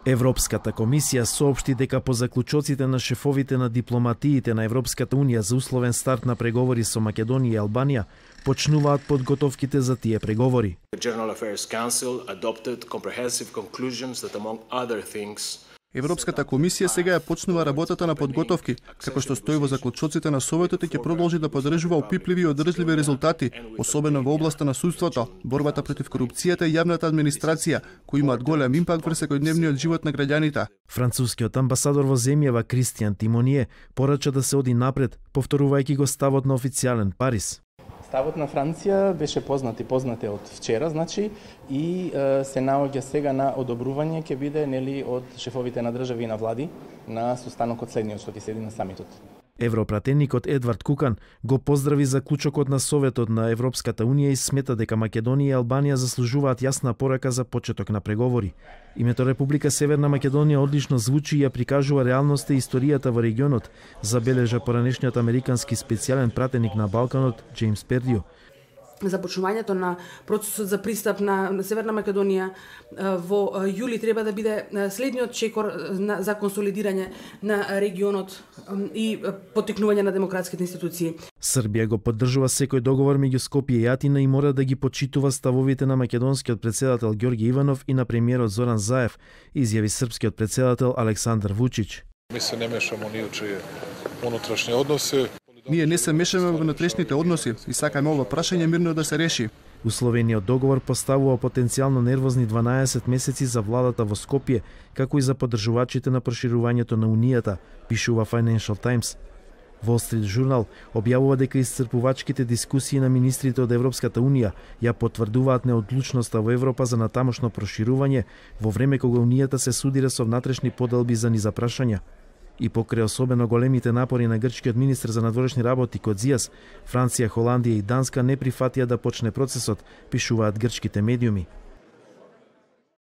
Европската комисија соопшти дека по заклучоците на шефовите на дипломатиите на Европската унија за условен старт на преговори со Македонија и Албанија почнуваат подготовките за тие преговори. Европската комисија сега ја почнува работата на подготовки, како што стои во заклучоците на Советот и ќе продолжи да поддржува опипливи и одржливи резултати, особено во областа на судството, борбата против корупцијата и јавната администрација, кои имаат голем импакт врз секојдневниот живот на граѓаните. Францускиот амбасадор во земјава Кристијан Тимоние порача да се оди напред, повторувајќи го ставот на официјален Париз. Ставот на Франција беше познат од вчера, и се наоѓа сега на одобрување ќе биде од шефовите на држави и на влади на состанокот следниот што ќе седи на самитот. Европратеникот Едвард Кукан го поздрави заклучокот на Советот на Европската унија и смета дека Македонија и Албанија заслужуваат јасна порака за почеток на преговори. Името Република Северна Македонија одлично звучи и ја прикажува реалноста и историјата во регионот, забележа поранешниот американски специјален пратеник на Балканот Джеймс Пердио. Започнувањето на процесот за пристап на Северна Македонија во јули треба да биде следниот чекор за консолидирање на регионот и поттикнување на демократските институции. Србија го поддржува секој договор меѓу Скопје и Атина и мора да ги почитува ставовите на македонскиот председател Ѓорги Иванов и на премиерот Зоран Заев, изјави српскиот председател Александар Вучич. Ми се не мешамо ни у чие унутрешни односи. Ние не се мешаме во внатрешните односи и сакаме ова прашање мирно да се реши. Условениот договор поставува потенцијално нервозни 12 месеци за владата во Скопје, како и за поддржувачите на проширувањето на Унијата, пишува Financial Times. Wall Street Journal објавува дека исцрпувачките дискусии на министрите од Европската Унија ја потврдуваат неодлучноста во Европа за натамошно проширување, во време кога Унијата се судира со внатрешни поделби за низа прашања. И покрај особено големите напори на грчкиот министер за надворешни работи Кодзијас, Франција, Холандија и Данска не прифатија да почне процесот, пишуваат грчките медиуми.